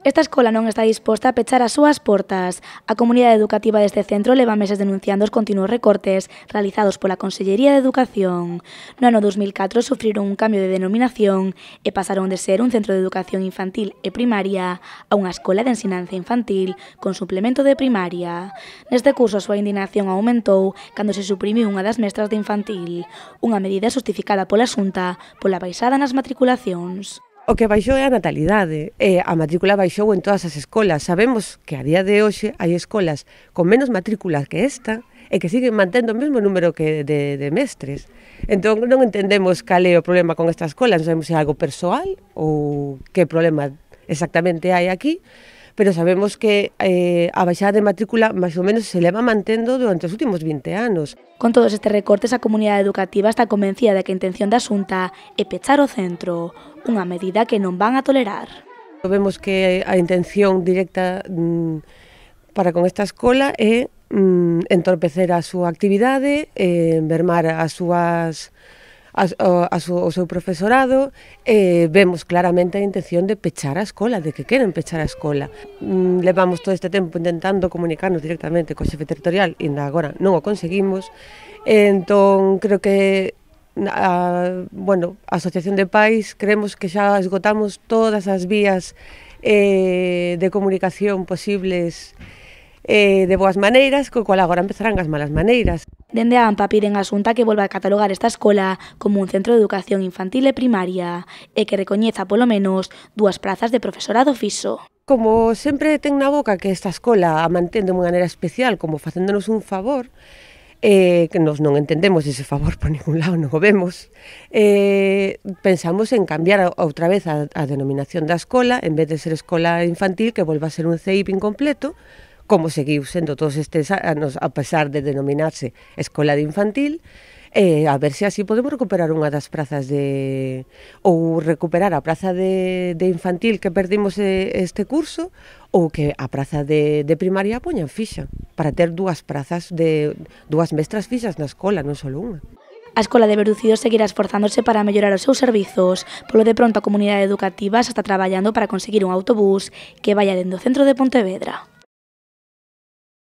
Esta escola non está disposta a pechar as súas portas. A comunidade educativa deste centro leva meses denunciando os continuos recortes realizados pola Consellería de Educación. No ano 2004 sufriron un cambio de denominación e pasaron de ser un centro de educación infantil e primaria a unha escola de ensinanza infantil con suplemento de primaria. Neste curso a súa indignación aumentou cando se suprimiu unha das mestras de infantil, unha medida justificada pola Xunta pola baixada nas matriculacións. O que baixou é a natalidade, a matrícula baixou en todas as escolas. Sabemos que a día de hoxe hai escolas con menos matrículas que esta e que siguen mantendo o mesmo número que de mestres. Entón non entendemos cal é o problema con esta escola, non sabemos se é algo persoal ou que problema exactamente hai aquí, pero sabemos que a baixada de matrícula máis ou menos se leva mantendo durante os últimos 20 anos. Con todos estes recortes, a comunidade educativa está convencida de que a intención da Xunta é pechar o centro, unha medida que non van a tolerar. Vemos que a intención directa para con esta escola é entorpecer a súa actividade, mermar o seu profesorado, vemos claramente a intención de pechar a escola, de que queren pechar a escola. Levamos todo este tempo intentando comunicarnos directamente co xefe territorial e agora non o conseguimos, entón creo que a Asociación de Pais creemos que xa esgotamos todas as vías de comunicación posibles de boas maneiras, co cual agora empezarán as malas maneiras. Dende a AMPA piden á Xunta que volva a catalogar esta escola como un centro de educación infantil e primaria e que recoñeza polo menos 2 prazas de profesorado fixo. Como sempre ten na boca que esta escola a mantén de unha maneira especial como facéndonos un favor, que nos non entendemos ese favor por ningún lado, non o vemos, pensamos en cambiar outra vez a denominación da escola, en vez de ser escola infantil, que volva a ser un CEIP incompleto, como seguiu sendo todos estes anos, a pesar de denominarse escola de infantil, a ver se así podemos recuperar unha das prazas ou recuperar a praza de infantil que perdimos este curso, ou que a praza de primaria poñan fixa, para ter 2 prazas de 2 mestras fixas na escola, non só unha. A Escola de Berducido seguirá esforzándose para mellorar os seus servizos. Polo de pronto, a comunidade educativa xa está traballando para conseguir un autobús que vaya dende o centro de Pontevedra.